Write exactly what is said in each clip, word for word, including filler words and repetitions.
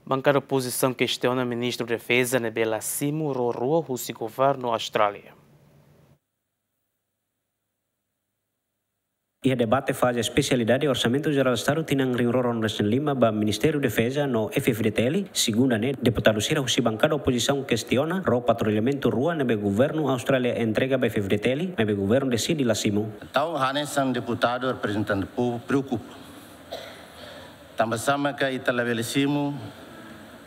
Bankada opozisaun kestiona Ministru Defeza ne'ebé la simu ró rua husi governu Austrália. Iha debate faze espesialidade Orsamentu Jerál Estadu tinan rihun rua ruanulu-resin-lima ba Ministériu Defeza no F-FDTL, segunda ne'e, deputadu sira husi bankada opozisaun kestiona ró patrullamentu rua ne'ebé governu Austrália entrega ba F-FDTL, maibé governu deside la simu. Entaun, hanesan deputadu reprezentante povu preokupa. Tanba sá mak ita labele simu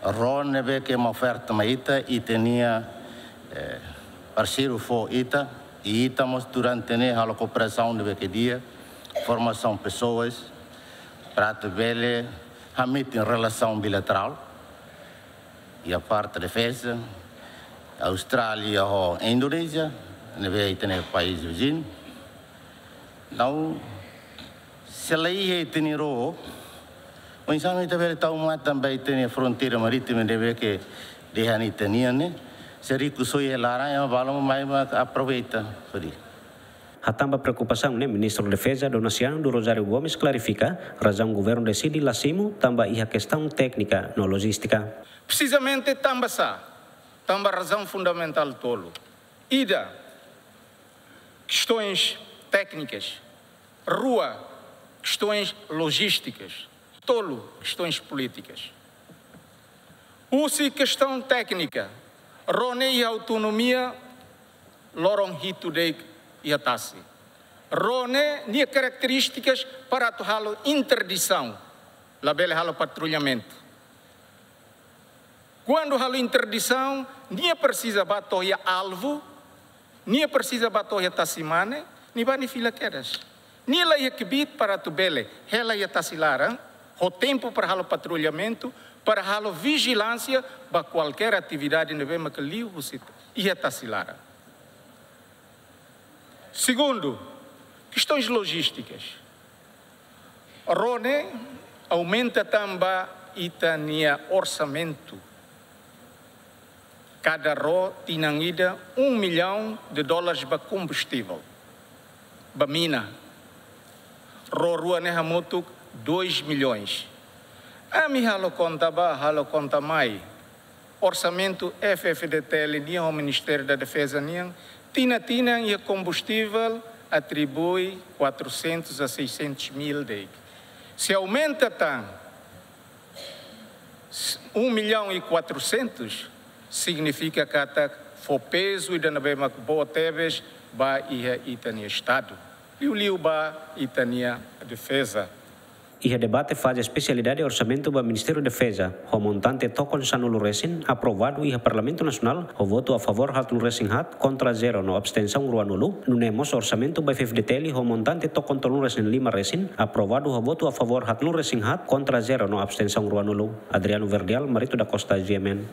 ró ne'ebé ke ema oferta mai ita, ita-nia, eh, parseiru fó ita, i ita mós durante ne'e halo kooperasaun ne'ebé ke di'ak, formasaun pesoas, para atu bele hametin relasaun bilaterál, iha parte defeza, Austrália ho Indonézia, ne'ebé ita-nia país viziñu. Entaun, se la iha ita-nia ró, oinsá mak ita bele tau matan ba ita-nia fronteira marítima ne'ebé ke dehan ita-nian ne'e, se rikusoin iha laran, ema balu mai mak aproveita fali. Hatán ba preokupasaun ne'e, Ministru Defeza Donaciano do Rosário Gomes klarifika, razaun governu deside la simu tanba iha kestaun téknika no lojístika. Presizamente tanba sá, tanba razaun fundamentál tolu. Ida, kestaun téknikas. Rua, kestaun lojístikas. Tolu, kestaun polítikas. Husi kestaun téknika, ró ne'e iha autonomia loron hitu de'it iha tasi. Ró ne'e nia karakterístikas para atu halo interdisaun, labele halo patrullamentu. Kuandu halo interdisaun, nia presiza bá to'o iha alvu, nia presiza bá to'o iha tasi-mane, nia bá nia fila kedas. Nia la iha kbiit para atu bele hela iha tasi laran, ho tempu para halo patrullamentu, para halo vijilánsia ba kualkér atividade ne'ebé mak liu husi iha tasi laran. Segundu, kestaun lojístikas. Ró ne'e aumenta tan ba ita-nia orsamentu. Kada ró tinan ida um milhão de dólares ba kombustivel, ba mina. Ró rua ne'e hamutuk dois milhões. Ami halo konta bá, halo konta mai. Orsamentu F-FDTL nian ho Ministériu da Defeza nian, tinan-tinan iha kombustivel atribui quatrocentos a seiscentos mil de'it. Se aumenta tan um milhão e quatrocentos, signifika katak fó pezu ida ne'ebé mak boot tebes ba iha ita-nia Estadu. Liuliu ba ita-nia defeza. Iha debate faze espesialidade orsamentu ba Ministériu Defeza, ho montante tokon sanulu resin, aprovadu iha Parlamentu Nasionál, ho votu a favór haatnulu resin haat, kontra zero no abstensaun ruanulu, nune'e mós orsamentu ba F-FDTL ho montante tokon tolunulu resin lima resin, aprovadu ho votu a favór haatnulu resin haat, kontra zero no abstensaun ruanulu. Adriano Verdial, Marito da Costa, G M N.